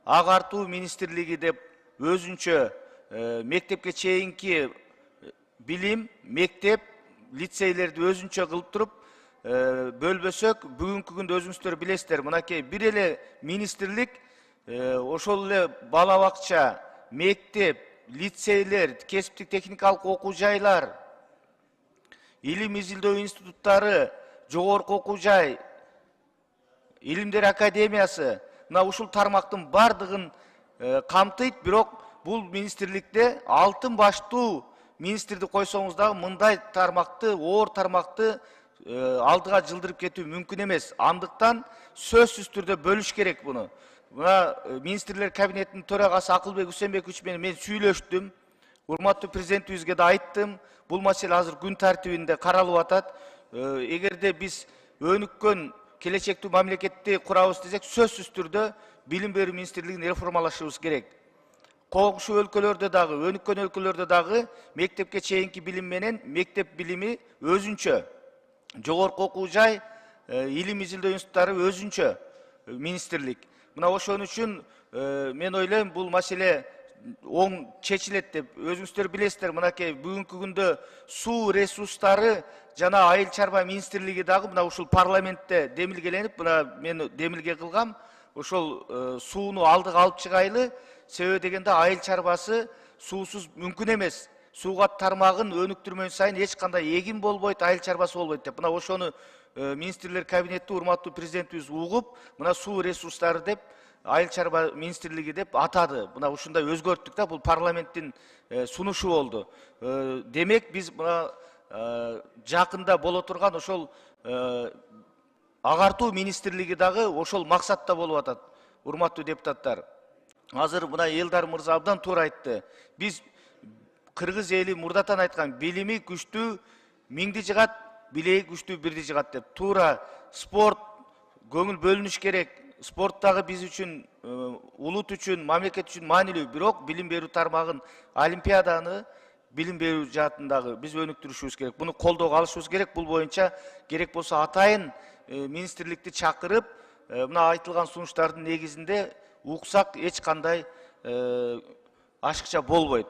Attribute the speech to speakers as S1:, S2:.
S1: агартуу министрлиги деп өзүнчө мектепке чейинки билим, мектеп, лицейлерди өзүнчө кылып туруп бөлбөсөк, бүгүнкү күндө өзүңүздөр билесиздер, мынакей бир эле министрлик ошол эле бала бакча, мектеп, лицейлер, кесиптик техникалык окуу жайлар, илим изилдөө институттары, жогорку окуу жай, илимдер академиясы, мына ушул тармактын бардыгын камтыйт, бирок бул министрликте алтын баштуу министрди койсоңуз дагы мындай тармакты, оор тармакты алдыга жылдырып кетүү мүмкүн эмес. Андыктан сөзсүз түрдө бөлүш керек буну. Мына министрлер кабинетинин төрагасы Акылбек Үсенбекович менен мен сүйлөштүм. Урматтуу президентибизге да айттым. Бул маселе азыр күн тартибинде каралып атат. Эгерде биз өнүккөн келечектүү мамлекетти курабыз десек, сөзсүз түрдө билим берүү министрлигин реформалашыбыз керек. Коңшу өлкөлөрдө дагы, өнүккөн өлкөлөрдө дагы мектепке чейинки билим менен мектеп билими өзүнчө, жогорку окуу жай, илим изилдөө институттары өзүнчө министрлик. Мына ошон үчүн мен ойлойм, бул маселе оң чечилет деп. Өзүңүздөр билесиздер, мынакей бүгүнкү күндө суу ресурстары жана айыл чарба министрлиги дагы мына ушул парламентте демилгеленип, мына мен демилге кылгам. Ошол сууну алдыга алып чыгайлы, себеби дегенде айыл чарбасы суусуз мүмкүн эмес. Сууга тармагын өнүктүрмөн сайын эч кандай эгин болбойт, айыл чарбасы болбойт деп. Мына ошону министрлер кабинети урматтуу президентибиз угуп, мына суу ресурстары деп, айыл чарба министрлиги деп атады. Мына ушундай өзгөрттүк да, бул парламенттин сунушу болду. Демек биз мына жакында боло турган ошол агартуу министрлиги дагы ошол максатта болуп атат. Урматтуу депутаттар, азыр мына Элдар мырза абдан туура айтты. Биз кыргыз эли мурдатан айткан, билими күчтүү миңди жыгат, билеги күчтүү бирди жыгат деп. Туура, спорт көңүл бөлүнүш керек. Спорт дагы биз үчүн, улут үчүн, мамлекет үчүн маанилүү. Бирок билим берүү тармагын, олимпиаданы билим берүү жаатындагы биз өнүктүрүшүбүз керек. Буну колдоого алышыбыз керек. Бул боюнча керек болсо атайын министрликти чакырып, мына айтылган сунуштардын негизинде уксак эч кандай ашыкча болбойт.